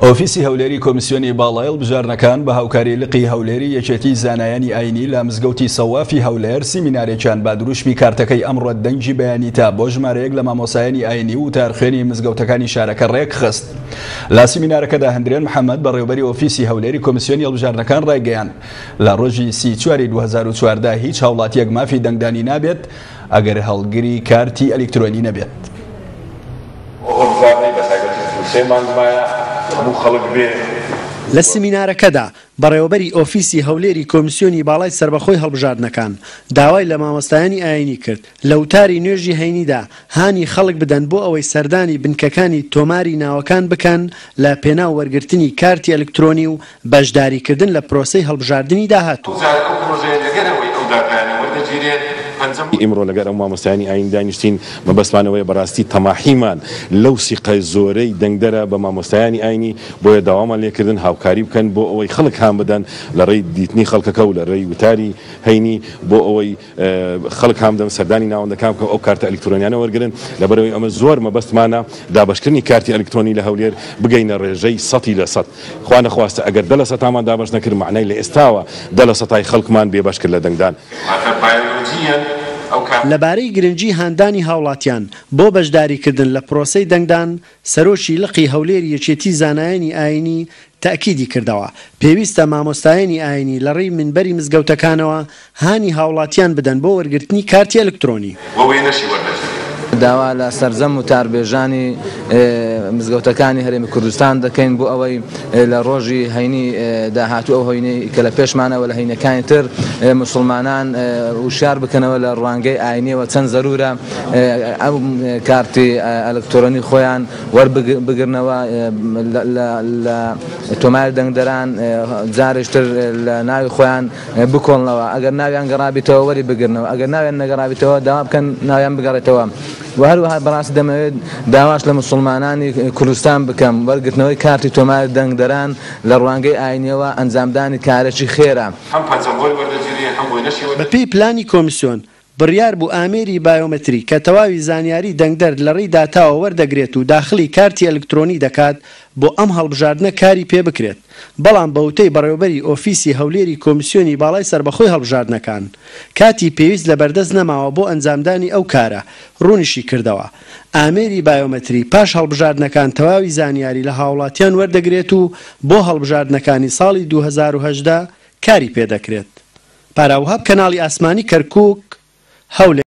ئۆفیسی هەولێری کۆمیسیۆنی باڵای هەڵبژاردنەکان بە هاوکاری لقی هەولێری یەکێتی زانایانی ئاینی لە مزگەوتی سەوافی هەولێر سیمینارێکیان بە دروشمی کارتەکەی ئەمڕۆت دەنگی بەیانیتە بۆ ژمارەیەک لە مامۆستایانی ئاینی و وتارخوێنی مزگەوتەکانی شارەکە ڕێکخست. لە سیمینارەکەدا هەندرێن محەمەد بەڕێوبەری ئۆفیسی هەولێری کۆمیسیۆنی هەڵبژاردنەکان ڕایگەیاند لە ڕۆژی سی چواری 2014 هیچ هاوڵاتیەک مافی دەنگدانی نابێت ئەگەر هەڵگری کارتی ئەلیکترۆنی نەبێت. لە سمینارەکەدا، بەڕێوەبەری ئۆفیسی هەولێری کۆمیسیۆنی باڵای سەربەخۆی هەڵبژاردنەکان، داوای لە مامۆستایانی ئایینی کرد، لە وتاری نوێژی هەینیدا هانی خەڵک بدەن بۆ ئەوەی سەردانی بنکەکانی تۆماری ناوەکان بکەن لە پێناو وەرگرتنی کارتی ئەلکترۆنی و بەشداریکردن لە پرۆسەی هەڵبژاردنی داهاتوو. ئیمڕۆ لەگەر ئەو مامۆستایانی ئایین دانیشتین، مەبەستمان ئەوەیە بەڕاستی تەماحیمان لەو سیقە زۆرەی دەنگدەرە بە مامۆستایانی ئایینی، بۆیە داوامان لێکردن هاوکاری بکەن بۆ ئەوەی خەڵک هان بدەن لە ڕێی دیتنی خەڵکەکە و لە ڕێی وتاری هەینی بۆ ئەوەی خەڵک هان بدەن سەردانی ناوەندەکان بکەن و ئەو کارتە ئەلیکترۆنیانە وەرگرن، لەبەرئەوەی ئەمە زۆر مەبەستمانە دابەشکردنی کارتی ئەلیکترۆنی لە هەولێر بگەینە ڕێژەی سەتی لە سەد. خوا نەخواستە ئەگەر دە لە سەتامان دابەش نەکرد مەعنای لە ئێستاوە دە لە سەتای خەڵکمان بێ بەش کرد لە دەنگدان. واتە بایۆلۆجییەن ئەو کارتە. لەبارەی گرنگی هاندانی هاوڵاتیان بۆ بەشداریکردن لە پرۆسەی دەنگدان، سەرۆکی لقی هەولێری یەکێتی زانایانی ئایینی تەئکیدی کردەوە، پێویستە مامۆستایانی ئایینی لەڕێی مینبەری مزگەوتەکانەوە هانی هاوڵاتیان بدەن بۆ وەرگرتنی کارتی ئەلکترۆنی. و وێنەشی وەردەگیرێت. داوا لە سەرجەم وتاربێژانی مزگەوتەکانی هەرێمی کوردستان دەکەین بۆ ئەوەی لە ڕۆژی هەینی داهاتوو ئەو هەینەی کە لە پێشمانە و لە هەینەکانی تر موسڵمانان وشیار بکەنەوە لە ڕوانگەی ئاینیەوە چەند زەرورە ئەو کارتی ئەلکترۆنی خۆیان وەربگرنەوە لە تۆماری دەنگدەران جارێکتر لە ناوی خۆیان بکۆڵنەوە ئەگەر ناویان گەڕابیتەوە وەری بگرنەوە ئەگەر ناویان نەگەڕابیتەوە داوا بکەن ناویان بگەڕێتەوە و هەروەها بەڕاستی دەمەوێت داواش لە موسڵمانانی کوردستان بکەم وەرگرتنەوەی کارتی تۆماری دەنگدەران لە ڕوانگەی ئاینیەوە ئەنجامدانی کارێکی خێرە. هەم پەنجەمۆری وەردەگیرێ هەم وێنەشی وەردەگیرێ. بەپێی پلانی کۆمیسیۆن، بڕیار بوو ئامێری بایۆمەتری کە تەواوی زانیاری دەنگدەر لەڕێی داتاوە وەردەگرێت و داخڵی کارتی ئەلکترۆنی دەکات بۆ ئەم هەڵبژاردنە کاری پێبکرێت، بەڵام بەوتەی بەڕێوەبەری ئۆفیسی هەولێری کۆمیسیۆنی باڵای سەربەخۆی هەڵبژاردنەکان، کاتی پێویست لەبەردەست نەماوە بۆ ئەنجامدانی ئەو کارە، ڕوونیشی کردەوە، ئامێری بایۆمەتری پاش هەڵبژاردنەکان تەواوی زانیاری لە هاوڵاتیان وەردەگرێت و بۆ هەڵبژاردنەکانی ساڵی 2018 کاری پێدەکرێت. پارا وەهاب کەناڵی ئاسمانی کەرکوک، هەولێر.